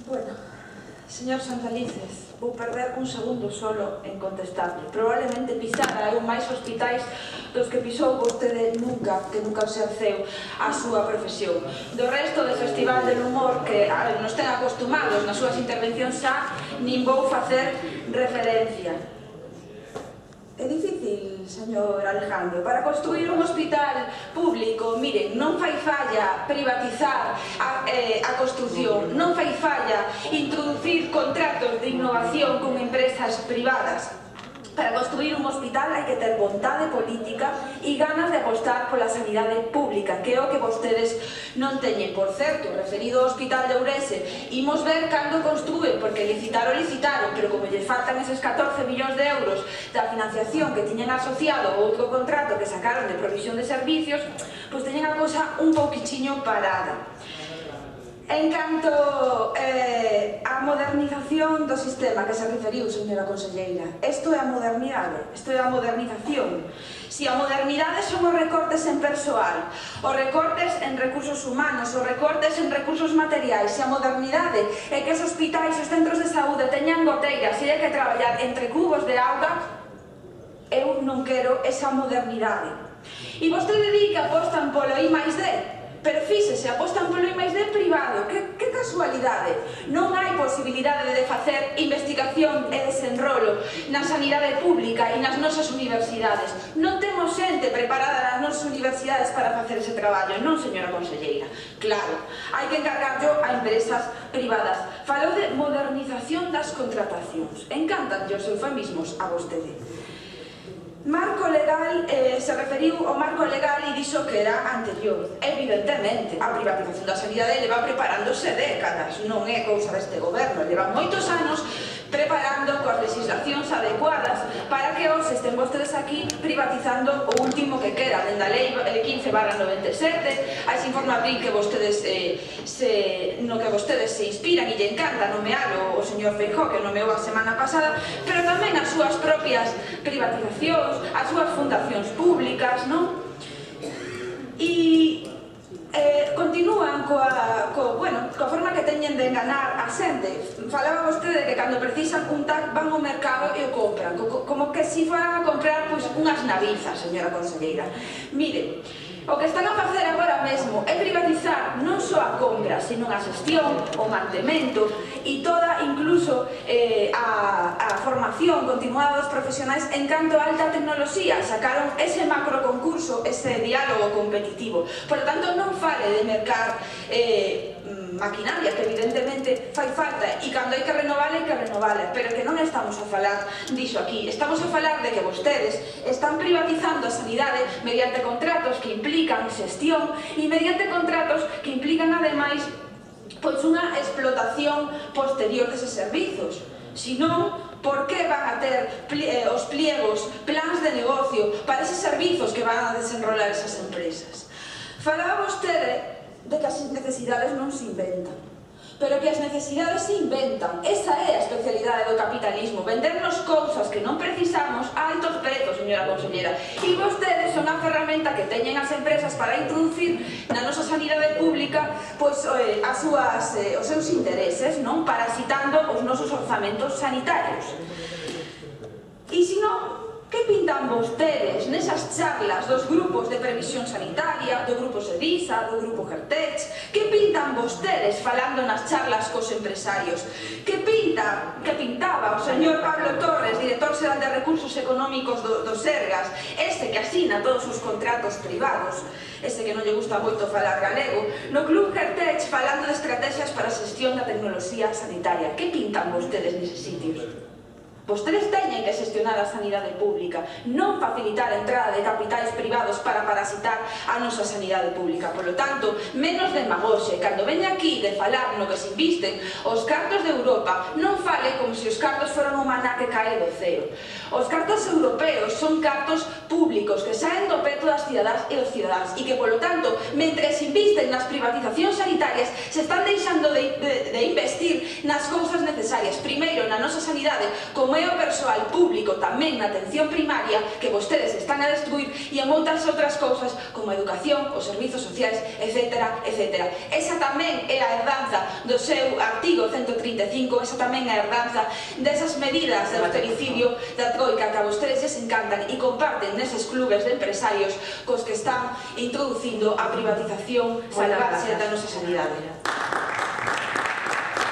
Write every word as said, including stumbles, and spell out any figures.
Bueno, señor Santalices, vou perder un segundo solo en contestarle. Probablemente pisara eu máis hospitais dos que pisou vostede nunca, que nunca se acceu a súa profesión. Do resto do Festival del Humor, que nos ten acostumados nas súas intervencións xa, nin vou facer referencia. É difícil, señor Alejandro, para construir un hospital público, miren, non fai falla privatizar a, eh, a construción, non fai falla introducir contratos de innovación con empresas privadas. Para construir un hospital hai que ter vontade política e ganas de apostar pola sanidade pública, que é o que vostedes non teñen. Por certo, referido ao Hospital de Ourense, imos ver cando construen, porque licitaron, licitaron, pero como lles faltan eses catorce millóns de euros da financiación que tiñen asociado ao outro contrato que sacaron de provisión de servicios, pois teñen a cosa un pouquichiño parada. En canto eh, á modernización do sistema que se referiu, señora conselleira, isto é a modernidade, isto é a modernización. Si a modernidade son os recortes en persoal, os recortes en recursos humanos, os recortes en recursos materiais, se a modernidade é que os hospitais, os centros de saúde teñan goteiras e hai que traballar entre cubos de auga, eu non quero esa modernidade. E vostede di que apostan polo I máis D. Pero fíxese, apostan polo I máis D privado, que, que casualidade. Non hai posibilidade de facer investigación e desenrolo na sanidade pública e nas nosas universidades. Non temos xente preparada nas nosas universidades para facer ese traballo, non, señora conselleira? Claro, hai que encargarlo a empresas privadas. Falou de modernización das contratacións. Encantan os eufemismos a vostede. Marco legal, eh, se referiu ao marco legal e dixo que era anterior. Evidentemente, a privatización da sanidade leva preparándose décadas, non é cousa deste goberno, leva moitos anos preparando coas legislacións adecuadas para que os estén vostedes aquí privatizando o último que queda, dende a lei quince barra noventa e sete, a ese informe abril que vostedes eh, se, no que vostedes se inspiran e lle encanta nomealo o señor Feijóo, que nomeou a semana pasada, pero tamén as súas propias privatizacións, as súas fundacións públicas, non? E eh, continúan coa, co, bueno, coa forma que teñen de enganar a xente. Falaba vostede que cando precisan un tac van ao mercado e o compran, co, como que si foran a comprar pois, unhas navizas, señora conselleira. Mire, o que están a facer agora mesmo é privatizar non só a compra, sino a xestión, o mantemento e toda, incluso, eh, a, a formación continuada dos profesionais en canto a alta tecnoloxía. Sacaron ese macro concurso, ese diálogo competitivo. Por lo tanto, non fale de mercar eh, maquinaria, que evidentemente fai falta, e cando hai que renovar, hai que renovar, pero que non estamos a falar diso aquí. Estamos a falar de que vostedes están privatizando a sanidade mediante contratos que implican xestión e mediante contratos que implican, ademais, pois unha explotación posterior deses servizos. Si non, por que van a ter eh, os pliegos, plans de negocio para eses servizos que van a desenrolar esas empresas? Falaba vostede de que as necesidades non se inventan, pero que as necesidades se inventan. Esa é a especialidade do capitalismo, vendernos cousas que non precisamos a altos prezos, señora conselleira. E vostedes son a ferramenta que teñen as empresas para introducir na nosa sanidade pública pois, eh, as súas, eh, os seus intereses, non? Parasitando os nosos orzamentos sanitarios. E se non, que pintan vostedes nesas charlas dos grupos de previsión sanitaria, do grupo SEDISA, do grupo GERTECH? Que pintan vostedes falando nas charlas cos empresarios? Que pinta, que pintaba o señor Pablo Torres, director xeral de Recursos Económicos do, do Sergas, ese que asina todos os contratos privados, ese que non lle gusta moito falar galego, no club GERTECH falando de estrategias para a xestión da tecnoloxía sanitaria? Que pintan vostedes neses sitios? Vostedes teñen que xestionar a sanidade pública, non facilitar a entrada de capitais privados para parasitar a nosa sanidade pública. Por lo tanto, menos demagoxe. Cando veña aquí de falar no que se invisten os cartos de Europa, non fale como se os cartos foran un maná que cae do ceo. Os cartos europeos son cartos públicos que saen do peto das cidadás e dos cidadáns e que, polo tanto, mentre se invisten nas privatizacións sanitarias, se están deixando de, de, de investir nas cousas necesarias. Primeiro, na nosa sanidade, como é o persoal público tamén na atención primaria que vostedes están a destruir e en outras outras cousas como a educación, os servizos sociais, etcétera, etcétera. Esa tamén é a herdade herdanza do seu artigo ciento trinta e cinco, esa tamén é a herdanza desas medidas de austericidio da troika que a vostedes les encantan e comparten neses clubes de empresarios cos que están introducindo a privatización salvaxe da nosa sanidade.